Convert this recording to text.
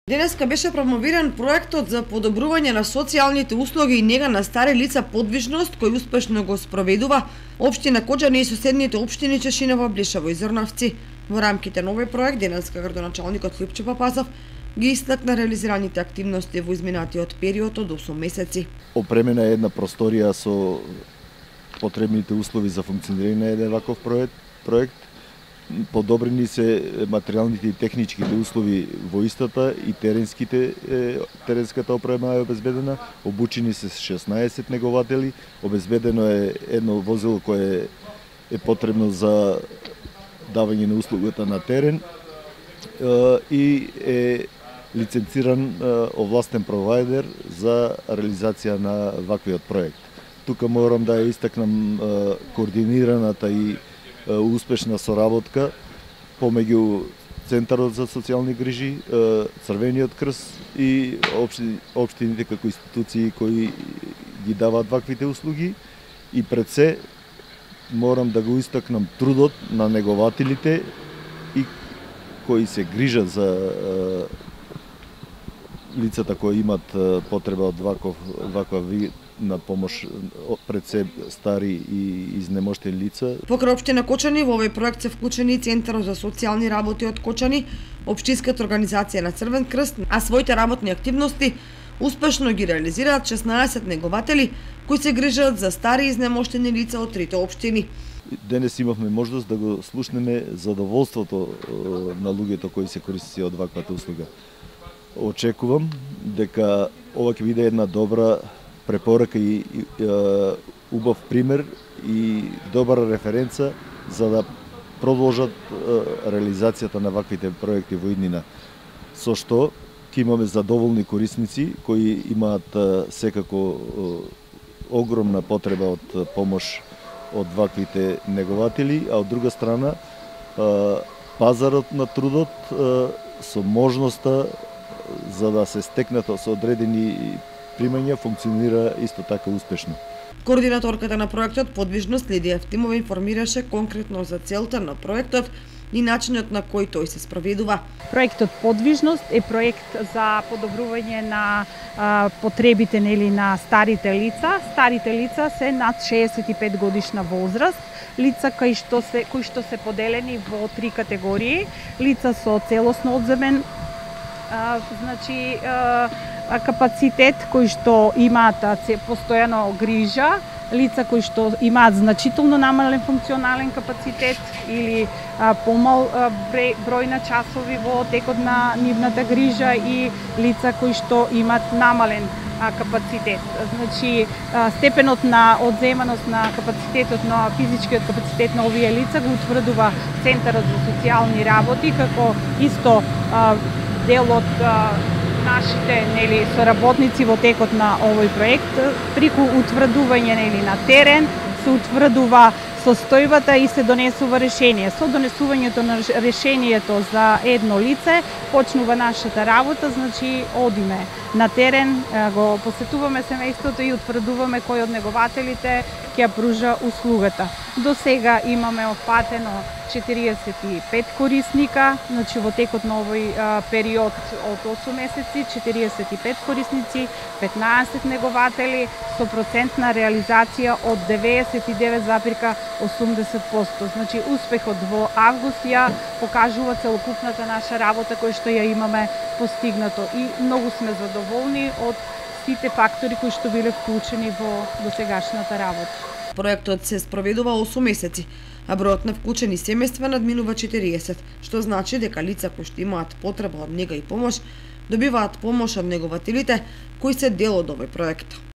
Денеска беше промовиран проектот за подобрување на социјалните услуги и нега на стари лица подвижност, кој успешно го спроведува општина Кочани и соседните општини Чешиново, Блишево и Зрновци. Во рамките на овој проект денеска градоначалникот Лјупчо Папазов ги истакна реализираните активности во изминатиот период од 8 месеци. Опремена е една просторија со потребните услови за функционирање на еден ваков проект. Подобрени се материјалните и техничките услови во истата и теренската опрема е обезбедена, обучени се 16 негователи, обезбедено е едно возило кое е потребно за давање на услугата на терен и е лиценциран овластен провайдер за реализација на ваквиот проект. Тука морам да ја истакнам координираната и успешна соработка помеѓу Центарот за социјални грижи, Црвениот крст и општините како институции кои ги даваат ваквите услуги. И пред се морам да го истакнам трудот на негователите и кои се грижат за лицата кои имат потреба од ваква вид на помош, пред се стари и изнемоштени лица. Покрај општина Кочани во овој проект се вклучени и Центарот за социјални работи од Кочани, општинската организација на Црвен крст, а своите работни активности успешно ги реализираат 16 негователи кои се грижат за стари и изнемоштени лица од трите општини. Денес имавме можност да го слушнеме задоволството на луѓето кои се користици од ваквата услуга. Очекувам дека ова ќе биде една добра препорака и убав пример и добра референца за да продолжат реализацијата на ваквите проекти во иднина. Со што ќе имаме задоволни корисници кои имаат секако огромна потреба од помош од ваквите негователи, а од друга страна пазарот на трудот со можноста за да се стекнат со одредени примања функционира исто така успешно. Координаторката на проектот Подвижност Лидија Евтимова информираше конкретно за целта на проектот и начинот на кој тој се спроведува. Проектот Подвижност е проект за подобрување на потребите на старите лица. Старите лица се над 65 годишна возраст, лица кои што се поделени во 3 категории: лица со целосно одземен капацитет кои што имаат постојано грижа, лица кои што имаат значително намален функционален капацитет или помал број на часови во текот на нивната грижа и лица кои што имаат намален капацитет. Значи, степенот на одземаност на капацитетот на физичкиот капацитет на овие лица го утврдува Центарот за социјални работи како исто дел од нашите соработници во текот на овој проект. Преку утврдување на терен се утврдува состојбата и се донесува решение. Со донесувањето на решението за едно лице почнува нашата работа, значи одиме на терен, го посетуваме семејството и утврдуваме кој од негователите ќе пружа услугата. До сега имаме опфатено 45 корисника, значи во текот на овој период од 8 месеци 45 корисници, 15 негователи со процентна реализација од 99,80%. Значи успехот во август ја покажува целокупната наша работа која што ја имаме постигнато и многу сме задоволни од сите фактори кои што биле вклучени во досегашната работа. Проектот се спроведува 8 месеци, а бројот на вклучени семејства надминува 40, што значи дека лица кои што имаат потреба од нега и помош добиваат помош од негователите кои се дел од овој проект.